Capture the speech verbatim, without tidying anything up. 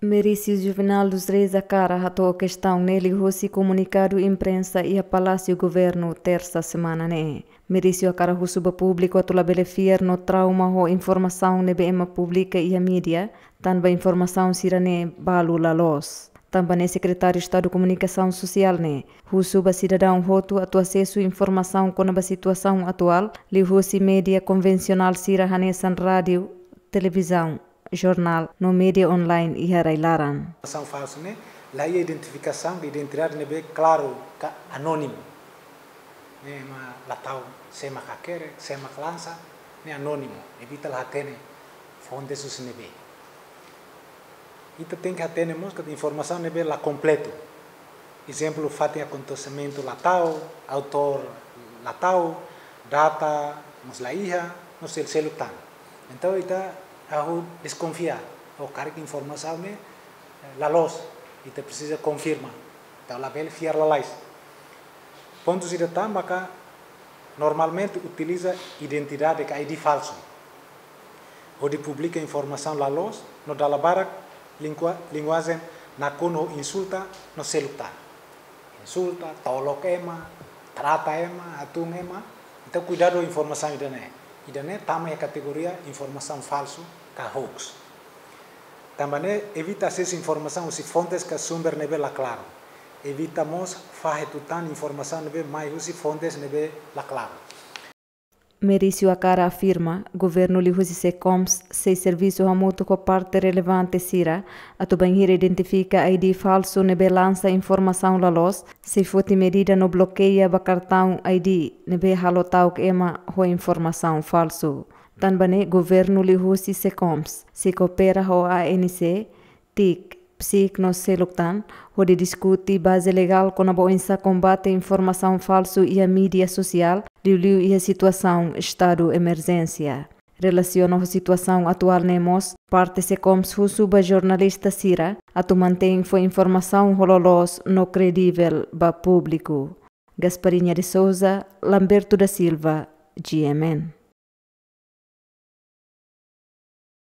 Merício Juvenal dos Reis hakarak hato'o kestaun ne'e liuhusi komunikadu imprensa iha Palásiu Governu, Tersa semana ne'e. Merício hakarak husu ba públiku atu labele fiar no trauma ho informasaun ne'ebé ema publika iha mídia, tanba informasaun sira-ne'e balu la loos. Tanba ne'e Sekretáriu Estadu Komunikasaun Sosiál ne'e husu ba sidadaun hotu atu asesu informasaun kona-ba situasaun atuál liuhusi mídia konvensionál sira hanesan rádiu, televizaun, jornál no mídia online iha rai-laran. Informasaun falsu ne'e la iha identifikasaun de identidade ne'ebé klaru ka anónimu. Ne'e ema la tau sé mak hakerek, sé mak lansa, ne'e anónimu, evita la hatene fontes husi ne'ebé. Ita tenke hatene mós katak informasaun ne'ebé la kompletu. Ezemplu, fatin akontesimentu la tau, autór la tau, data mós la iha, no sel-, seluk tan. Entaun ita hahú deskonfia, ou karik informasaun ne'e, eh, la loos, ita presiza konfirma. Entaun labele fiar lalais. Pontu ida tan maka normalmente utiliza identidade ka I D falsu hodi publika informasaun la loos no dala barak lingua-, linguajen nakonu ho insulta no seluk tan. Insulta, tolok ema, trata ema, hatún ema. Entaun kuidadu ho informasaun ida-ne'e. Ida-ne'e tama iha kategoria informasaun falsu ka hoax. Tanba ne'e evita asesu informasaun husi fontes ka sumber ne'ebé la klaru. Evita mós fahe tutan informasaun ne'ebé mai husi fontes ne'ebé la klaru. Merício hakarak afirma, governu liuhusi SECOMS sei servisu hamutuk ho parte relevante sira atu bainhira identifika I D falsu ne'ebé lansa informasaun la loos, sei foti medida no blokeia ba kartaun I D ne'ebé halo ta'uk ema ho informasaun falsu. Tanba ne'e governu liuhusi SECOMS sei koopera ho A N C, TIC, PSIC no seluk tan, hodi diskute baze legál kona-ba oinsá kombate informasaun falsu iha mídia sosiál, liuliu iha situasaun estadu emerjénsia. Relasiona ho situasaun atuál ne'e mós, parte SECOMS husu ba jornalista sira atu mantein fó informasaun ho loloos no kredivel ba públiku. Gasparinha de Souza, Lamberto da Silva, G M N.